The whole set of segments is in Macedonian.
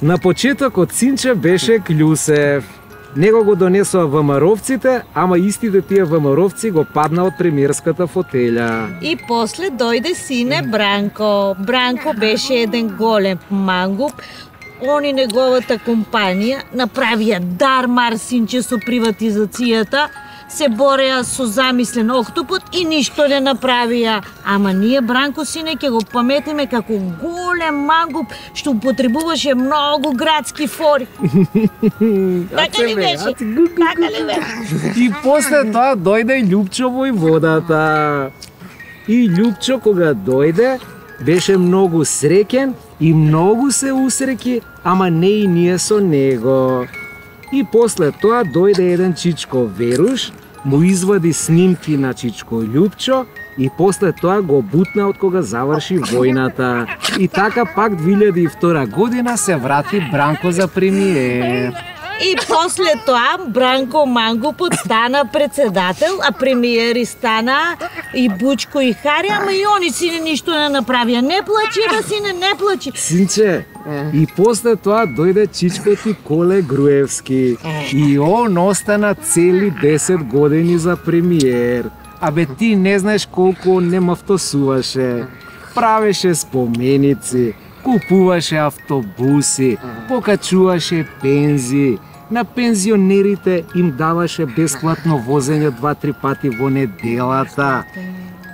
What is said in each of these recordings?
На почетокот синче беше Клюсев. Него го донесоа ВМРО-вците, ама истите тие ВМРО-вци го падна од премиерската фотеља. И после дојде сине Бранко. Бранко беше еден голем мангуп. Они неговата компанија направија дармар синче со приватизацијата, се бореа со замислен октопод и ништо не направија. Ама ние Бранко сине ќе го паметиме како голем мангуп што употребуваше многу градски фори. Така ли беше? Така ли беше? И после тоа дојде Љупчо војводата. И Љупчо кога дојде беше многу среќен и многу се усреќи, ама не и ние со него. И после тоа дојде еден Чичко Веруш, му извади снимки на Чичко Љупчо и после тоа го бутна од кога заврши војната. И така пак 2002 година се врати Бранко за премиер. И после тоа Бранко Мангупот стана председател, а премиери стана и Бучко и Хари, ама и они сине ништо не направија. Не плачи, сине, не плачи. Синче, и после тоа дојде Чичкоти Коле Груевски. И он остана цели 10 години за премиер. Абе ти не знаеш колку он не мафтосуваше. Правеше споменици, купуваше автобуси, покачуваше пензии. На пензионерите им даваше бесплатно возење 2-3 пати во неделата.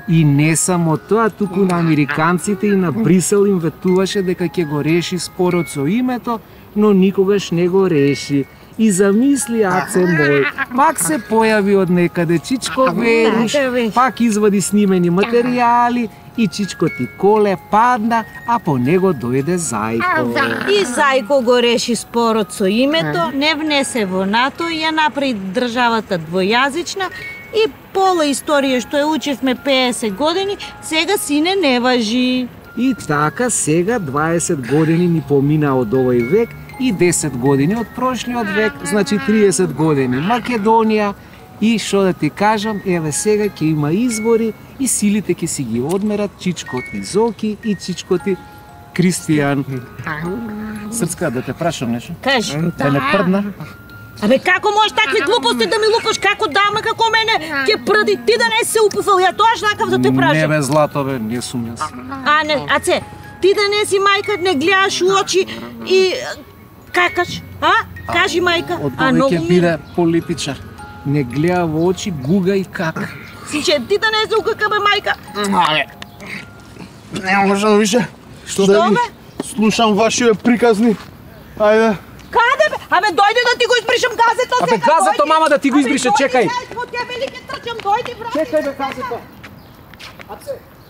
И не само тоа, туку на американците и на Брисел им ветуваше дека ќе го реши спорот со името, но никогаш не го реши. И замисли, аце мој, пак се појави од некаде Чичко Веруш, пак извади снимени материјали и Чичкоти Коле падна, а по него дојде Зајко. И Зајко го реши спорот со името, не внесе во НАТО и ја направи државата двојазична и пола историја што ја учевме 50 години, сега сине не важи. И така сега 20 години ни помина од овој век и 10 години од прошлиот век, значи 30 години Македонија. И што да ти кажам, еве сега ќе има избори и силите ќе си ги одмерат Чичкоти Зоки и Чичкоти Кристијан. Срцка, да те прашам нешто? Кажи. Те не прдна? Абе како можеш такви глупости да ми лупаш, како дама, како мене ќе прди, ти да не се упуфал, ја тоа шакав да те прашам. Не бе злато бе, не сум јас. А не, аце, ти да не си мајка, не гледаш у очи и какаш, а? Кажи мајка. Од ова ќе биде политичар. Не гледа во очи, гуга и как. Синче, ти да не се укака бе мајка. Не можам више. Што бе? Слушам вашите приказни. Ајде. Каде бе? Абе дојди да ти го избришам газето сега. Абе газето мама да ти го избрише, чекај. Абе дојди, ќе вели ќе трчам, дојди брат. Чекај бе газето. Аце.